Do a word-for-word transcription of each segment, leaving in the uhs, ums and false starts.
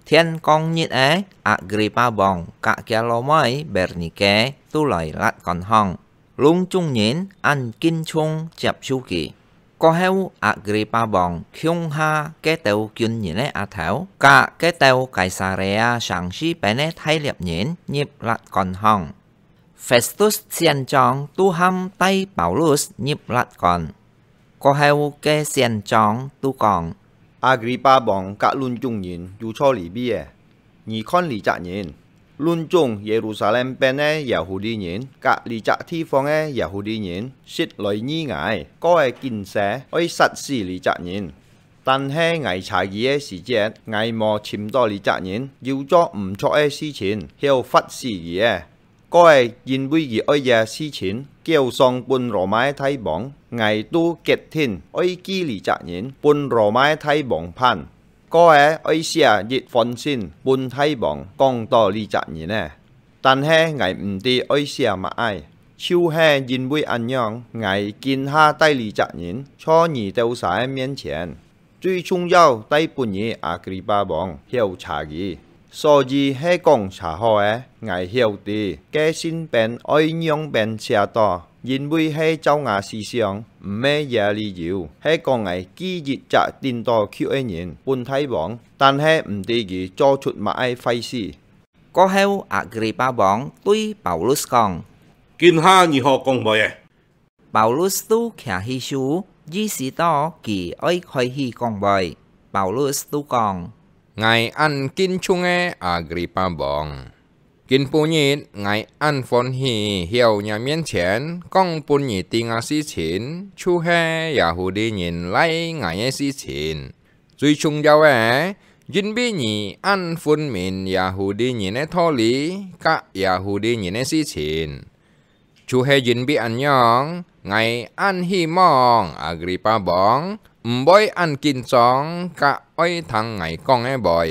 天光日仔，阿格里巴王佮厥老妹Bernike都來辣官項，攏總人恁敬重接受佢。過後，阿格里巴王共下該兜軍人个額頭，佮該兜該撒利亞城四邊个大獵人入辣官項。 Festus選長都喊帶Paulus入辣官。過後个選長都講：「阿格里巴王佮攏總人有錯理位仔！你看這隻人！攏總耶路撒冷邊个耶戶利人佮這隻地方个耶戶利人實來議𠊎，過仔緊勢愛殺死這隻人。但係𠊎查佢个時節，𠊎無尋著這隻人有做毋著个事情，曉罰死佢仔。 過仔因為佢愛這事情，交上分羅馬个大王，𠊎都決定愛記這隻人分羅馬个大王辦。過仔愛寫一封信分大王，講著這隻人仔。但係𠊎毋知愛寫麼个，就係因為恁樣，𠊎今下帶這隻人在你兜儕个面前。 最重要帶分你阿格里巴王曉查佢。所以係講查好仔，𠊎曉得該信片愛仰般寫著，因為係照吾思想，毋係這理由，係講𠊎寄一隻頂到級个人分大王，但係毋知佢做出麼个壞事。」過後，阿格里巴王對Paulus講：「今下你好講話仔！」 Paulus都擎起手，意思著佢愛開始講話。Paulus都講：「𠊎恁敬重个阿格里巴王，今晡日𠊎恁歡喜曉若面前講分你知个事情，就係耶戶利人拉𠊎个事情。最重要个，因為你恁分明耶戶利人个道理佮耶戶利人个事情。 就係因為恁樣，𠊎恁希望阿格里巴王毋會恁緊張，佮愛聽𠊎講个話。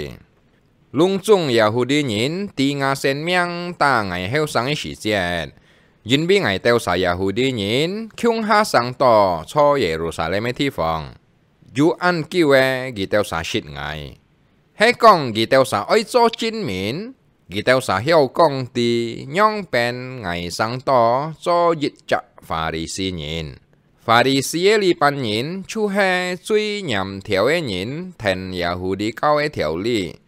攏總耶戶利人在吾性命打𠊎後生个時節，因為𠊎兜儕耶戶利人共下生到在耶路撒冷个地方，有恁久仔，佢兜儕識𠊎。係講佢兜儕愛做證明， 佢兜儕曉講知仰般𠊎生到做一隻法利賽人。法利賽个這班人就係最嚴條个人，跈耶戶利教个條理。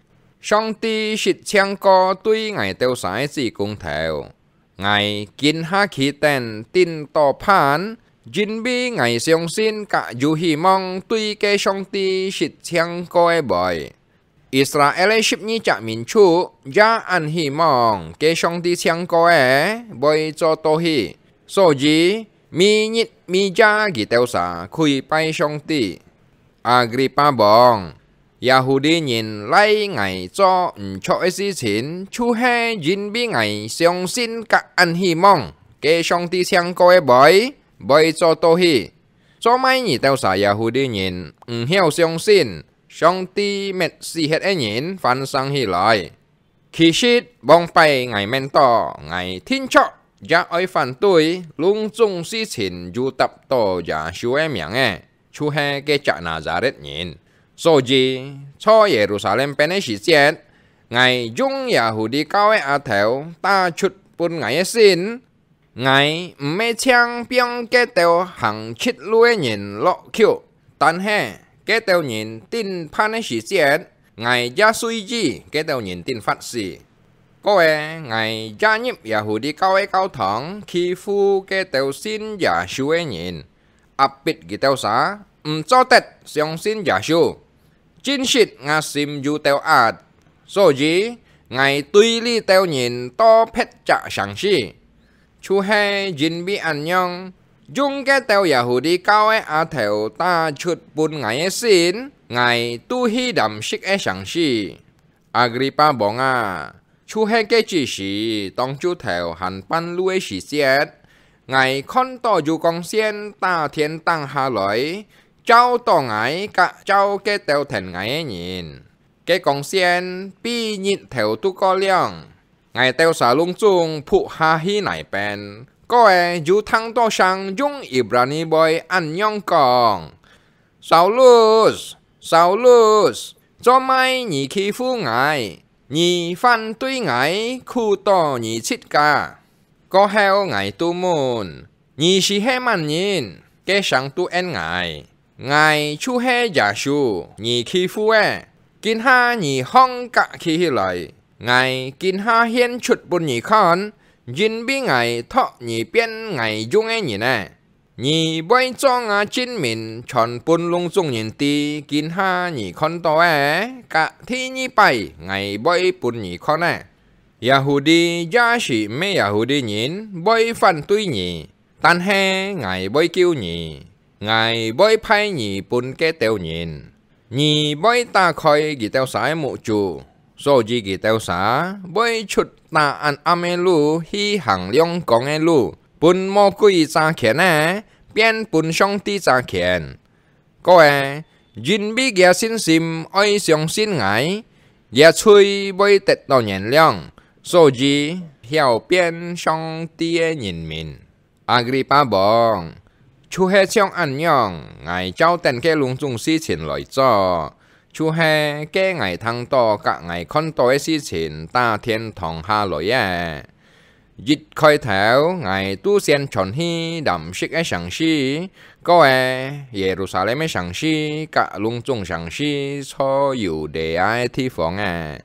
上帝實淨過對𠊎兜儕个子公頭。𠊎今下企等頂到辦，因為𠊎相信佮有希望對該上帝實淨過个話。 Israel个十二隻民族也恁希望該上帝淨過个會做到去，所以每日每夜佢兜儕跪拜上帝。阿格里巴王，耶戶利人拉𠊎做毋著个事情，就係因為𠊎相信佮恁希望該上帝淨過个話會做到去。做麼你兜儕耶戶利人毋曉相信， 上帝滅死忒个人還生起來。其實，往擺𠊎愐到𠊎定著也愛反對攏總事情有搭到耶穌个名个，就係該隻拿撒勒人。所以，在耶路撒冷邊个時節，𠊎用耶戶利教个額頭打出分𠊎个信， 𠊎毋係淨放該兜行直路个人落曲，但係該兜人頂辦个時節，𠊎也隨意該兜人頂發誓。過仔，𠊎也入耶戶利教个教堂，欺負該兜信耶穌个人，壓迫佢兜儕，毋做得相信耶穌。 真實吾心有兜閼，所以𠊎對這兜人多別隻城市，就係因為恁樣，用該兜耶戶利教个額頭打出分𠊎个信，𠊎都去Damskik个城市。阿格里巴王啊，就係該隻時，當晝頭還半路个時節，𠊎看到有光線打天頂下來， 照到𠊎佮照該兜跈𠊎个人。該光線比日頭都過亮。𠊎兜儕攏總仆下去泥邊，過仔有聽到聲用Ibrani話恁樣講：「Saulus，Saulus，做麼你欺負𠊎？你反對𠊎，苦到你自家。」過後𠊎就問：「你斯係麼人？」該聲就應𠊎：「𠊎就係耶穌，你欺負个。今下你䟘甲企起來，𠊎今下現出分你看，因為𠊎擇你變𠊎用个人呢。」 你會做吾證明，傳分攏總人知，今下你看到个，甲第二擺𠊎會分你看个。耶穌也是毋係耶穌人會反對你，但係𠊎會救你，𠊎會派你分該兜人。 你會打開佢兜儕个目珠，所以佢兜儕會出打恁暗个路去行亮光个路，分魔鬼揸權个，變分上帝揸權。各位，因為佢个信心愛相信𠊎，佢个罪會得到原諒，所以曉變上帝个人民。 阿格里巴王，就係像恁樣，𠊎照等該攏總事情來做，就係該𠊎聽到甲𠊎看到个事情打天堂下來个。一開頭，𠊎就先傳去南色个城市，過个耶路撒冷个城市，甲攏總城市，在猶太个地方个。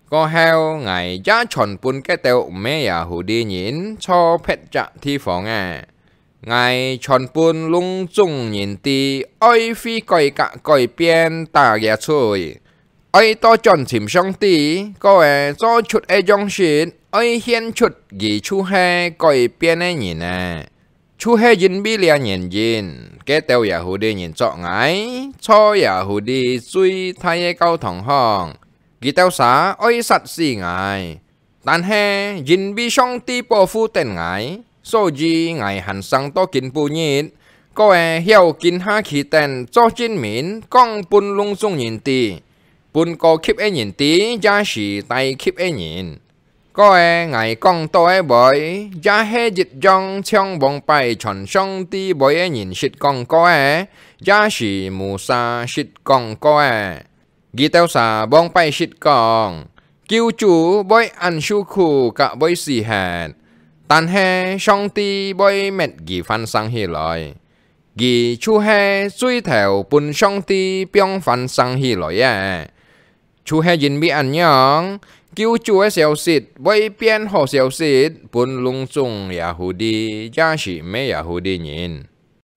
過後，𠊎也傳分該兜毋係Yahudi人在別隻地方个。𠊎傳分攏總人知，愛悔改甲改變打厥罪，愛倒轉尋上帝，過个做出个樣式，愛顯出佢就係改變个人呢。 就係因為這原因，該兜Yahudi人捉𠊎，在Yahudi最大个教堂項，佢兜儕愛殺死𠊎。但係因為上帝保護等𠊎，所以𠊎還生到今晡日，過个曉今下企等做證明，講分攏總人知，分高級个人知，也是低級个人。 過个𠊎講到个話，也係一樣像往擺傳上帝話个人識講過个，也是Musa識講過个。佢兜儕往擺識講，救主會恁受苦甲會死忒，但係上帝會搣佢翻生起來。佢就係最頭分上帝放翻生起來个。 就係因為恁樣，救主个消息會變好消息，分攏總Yahudi也係毋係Yahudi人。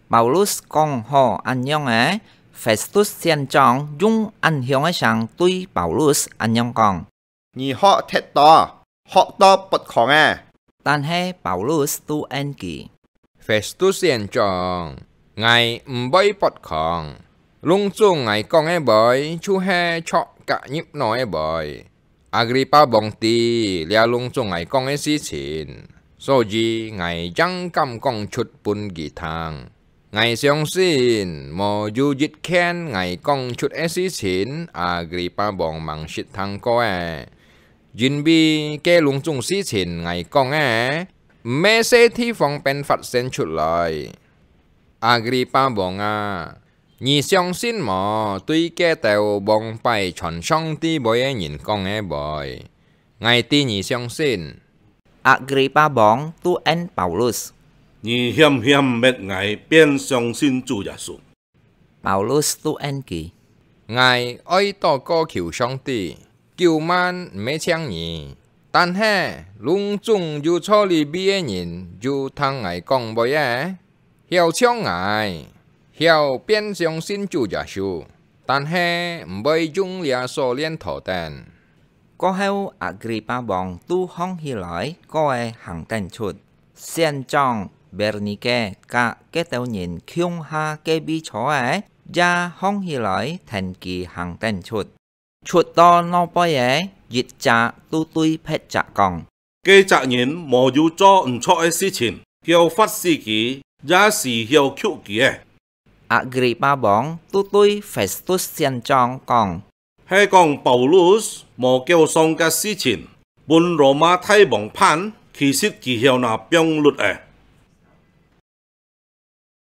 Paulus講好恁樣个，Festus仙長用恁響个聲對Paulus恁樣講：「你學忒多，學到發狂啊！」但係Paulus就應佢：「Festus仙長，𠊎毋會發狂。 攏總𠊎講个話，就係著甲入腦个話。Agrippa王知這攏總𠊎講个事情，所以𠊎正敢講出分佢聽。𠊎相信，無有一件𠊎講出个事情，Agrippa王吂識聽過个，因為該攏總事情𠊎講个，毋係細地方便發現出來。Agrippa王啊， 你相信無？對該兜往擺傳上帝話个人講个話，𠊎知你相信。」Agrippa王就應Paulus：「你險險搣𠊎變相信主耶穌。」Paulus就應佢：「𠊎愛禱告求上帝，九萬毋係淨你，但係攏總有在這位个人有聽𠊎講話个， 曉像𠊎，曉變相信主耶穌，但係毋會用這鎖鏈拖等。」過後，Agrippa王就䟘起來，過个行等出。仙長Bernike佮該兜人共下該位坐个，也䟘起來跈佢行等出。 出到外背个，一隻就對別隻講：「該隻人無有做毋著个事情，曉罰死佢，也係曉㓾佢个。」Agrippa王就對Festus仙長講：「係講Paulus無繳上个事情，分羅馬大王判，其實佢曉拿放律个。」